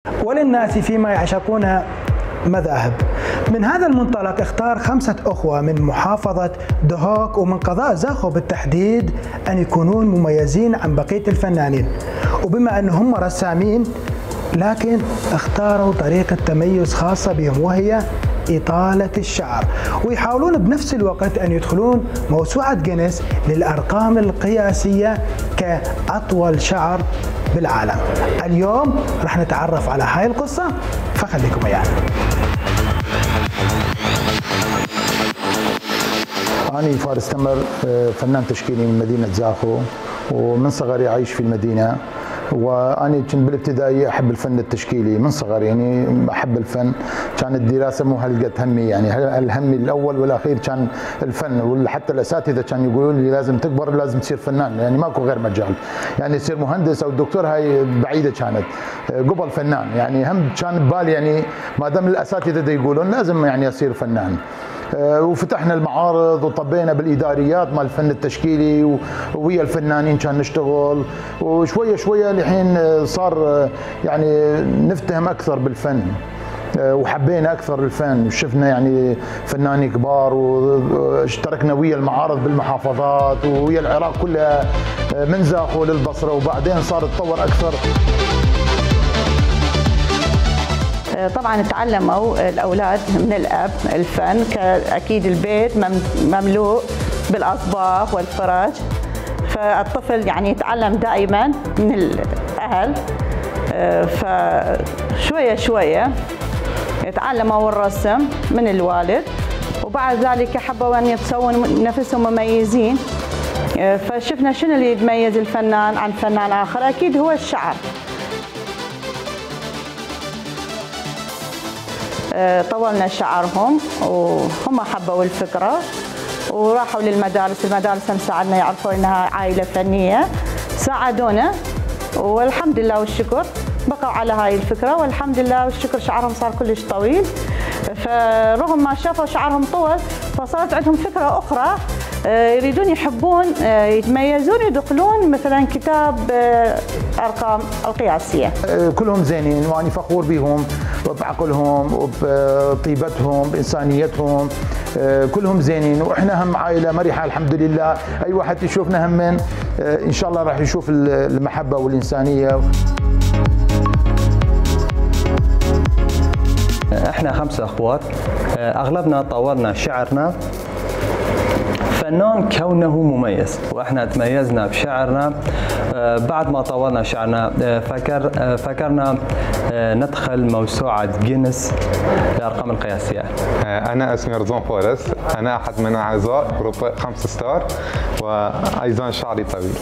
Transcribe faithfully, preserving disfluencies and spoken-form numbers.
وللناس فيما يعشقون مذاهب. من هذا المنطلق اختار خمسة أخوة من محافظة دهوك ومن قضاء زاخو بالتحديد أن يكونون مميزين عن بقية الفنانين، وبما أنهم رسامين لكن اختاروا طريقة تميز خاصة بهم وهي إطالة الشعر، ويحاولون بنفس الوقت أن يدخلون موسوعة جينيس للأرقام القياسية كأطول شعر بالعالم. اليوم راح نتعرف على هاي القصة، فخليكم ويانا. أنا فارس تمر، فنان تشكيلي من مدينة زاخو، ومن صغري عايش في المدينة. وأنا كنت بالابتدائي أحب الفن التشكيلي من صغري، يعني أحب الفن. كانت الدراسة مو هلقة همي، يعني الهم الأول والأخير كان الفن، وحتى الأساتذة كانوا يقولوا لي لازم تكبر لازم تصير فنان، يعني ماكو غير مجال، يعني تصير مهندس أو دكتور هاي بعيدة كانت قبل فنان. يعني هم كان ببالي يعني ما دام الأساتذة يقولون لازم يعني أصير فنان. وفتحنا المعارض وطبينا بالاداريات مال الفن التشكيلي ويا الفنانين كان نشتغل، وشويه شويه لحين صار يعني نفتهم اكثر بالفن وحبينا اكثر الفن، وشفنا يعني فنانين كبار، واشتركنا ويا المعارض بالمحافظات ويا العراق كلها من زاخو للبصره، وبعدين صار تطور اكثر. طبعا تعلموا الاولاد من الاب الفن، اكيد البيت مملوء بالاصباغ والفرج، فالطفل يعني يتعلم دائما من الاهل، فشويه شويه يتعلموا الرسم من الوالد، وبعد ذلك حبوا ان يتسوون نفسهم مميزين. فشفنا شنو اللي يتميز الفنان عن فنان اخر، اكيد هو الشعر. طولنا شعرهم وهم حبوا الفكرة وراحوا للمدارس، المدارس هم ساعدنا يعرفوا انها عائلة فنية، ساعدونا والحمد لله والشكر بقوا على هاي الفكرة، والحمد لله والشكر شعرهم صار كلش طويل. فرغم ما شافوا شعرهم طول فصارت عندهم فكرة أخرى، يريدون يحبون يتميزون يدخلون مثلا كتاب أرقام القياسية. كلهم زينين وأنا فخور بهم بعقلهم وبطيبتهم بإنسانيتهم، كلهم زينين، وإحنا هم عائلة مرحة الحمد لله. أي واحد يشوفنا هم من إن شاء الله راح يشوف المحبة والإنسانية. احنا خمسة اخوات، اغلبنا طورنا شعرنا. فنان كونه مميز، واحنا تميزنا بشعرنا. بعد ما طورنا شعرنا فكر فكرنا ندخل موسوعة جينيس للأرقام القياسية. أنا اسمي رضوان فارس، أنا أحد من أعضاء جروب خمس ستار، وأيضا شعري طويل.